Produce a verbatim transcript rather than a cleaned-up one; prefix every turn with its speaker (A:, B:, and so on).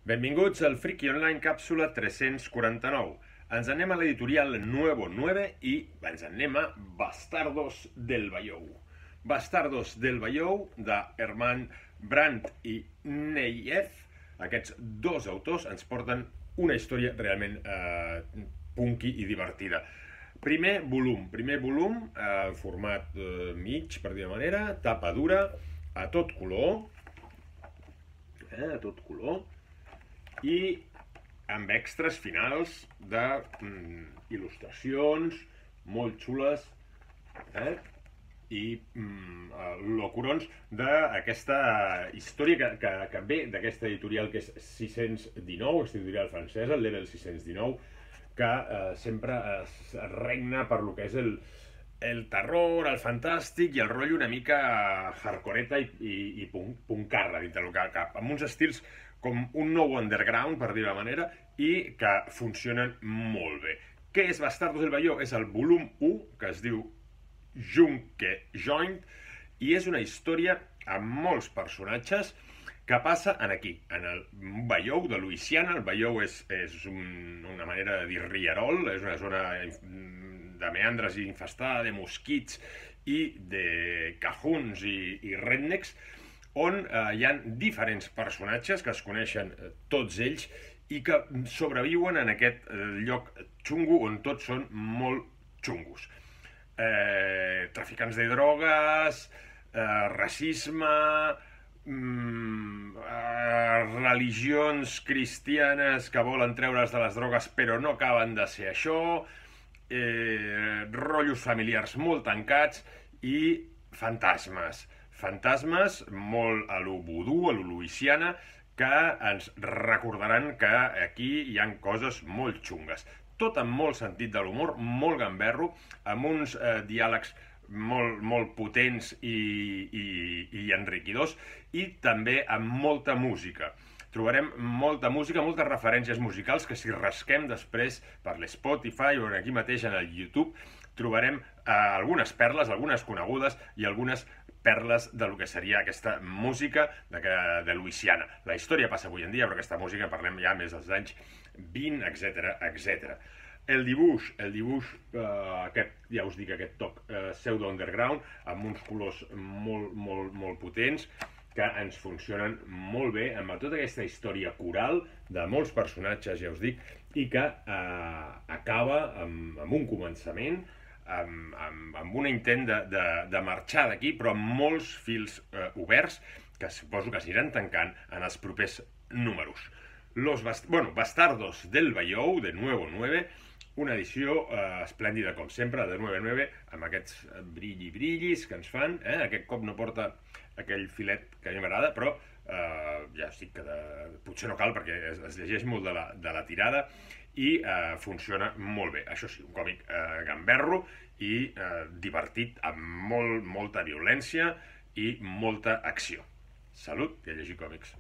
A: Benvinguts al Friki Online càpsula tres-cents quaranta-nou. Ens anem a l'editorial Nuevo nueve i ens anem a Bastardos del Vallou. Bastardos del Vallou, de Herman Brandt i Neyef. Aquests dos autors ens porten una història realment eh, punky i divertida. Primer volum, primer volum, eh, format eh, mig, per dir-ho manera, tapa dura, a tot color, eh, a tot color, i amb extras finals de mm, il·lustracions molt xules, eh? i mm, locurons d'aquesta història que, que, que ve d'aquesta editorial que és sis-cents dinou, aquesta editorial francesa, el Level sis-cents dinou, que eh, sempre es regna per lo que és el, el terror, el fantàstic i el rotllo una mica hardcoreta i, i, i puncarra dintre del que cap, amb uns estils com un nou underground, per dir-ho manera, i que funcionen molt bé. Què és Bastardos del Vallou? És el volum u, que es diu Junke Joint, i és una història amb molts personatges que passa en aquí, en el Vallou de Louisiana. El Vallou és, és un, una manera de dir rierol, és una zona de meandres infestada de mosquits i de cajuns i, i rednecks, on eh, hi ha diferents personatges que es coneixen eh, tots ells i que sobreviuen en aquest eh, lloc xungo on tots són molt xungos. Eh, traficants de drogues, eh, racisme, mm, eh, religions cristianes que volen treure's de les drogues però no acaben de ser això, eh, rotllos familiars molt tancats i fantasmes. Fantasmes molt a lo vudú, a lo Louisiana, que ens recordaran que aquí hi han coses molt xungues. Tot amb molt sentit de l'humor, molt gamberro, amb uns eh, diàlegs molt, molt potents i, i, i enriquidors, i també amb molta música. Trobarem molta música, moltes referències musicals que si rasquem després per l'Spotify o aquí mateix en el YouTube trobarem eh, algunes perles, algunes conegudes i algunes perles de lo que seria aquesta música de, de Louisiana. La història passa avui en dia, però aquesta música parlem ja més dels anys vint, etcètera, etcètera. El dibuix, el dibuix, eh, aquest, ja us dic, aquest toc eh, pseudo-underground, amb uns colors molt, molt, molt potents, que ens funcionen molt bé, amb tota aquesta història coral de molts personatges, ja us dic, i que eh, acaba amb, amb un començament, amb, amb, amb un intent de, de, de marxar d'aquí, però amb molts fils eh, oberts, que suposo que s'aniran tancant en els propers números. Los bast bueno, Bastardos del Vallou, de Nuevo nueve, una edició eh, esplèndida, com sempre, de Nuevo nueve, amb aquests brilli-brillis que ens fan. Eh? Aquest cop no porta aquell filet que a mi m'agrada, però eh, ja estic que de... potser no cal perquè es, es llegeix molt de la, de la tirada i eh, funciona molt bé. Això sí, un còmic eh, gamberro i eh, divertit, amb molt, molta violència i molta acció. Salut i a llegir còmics.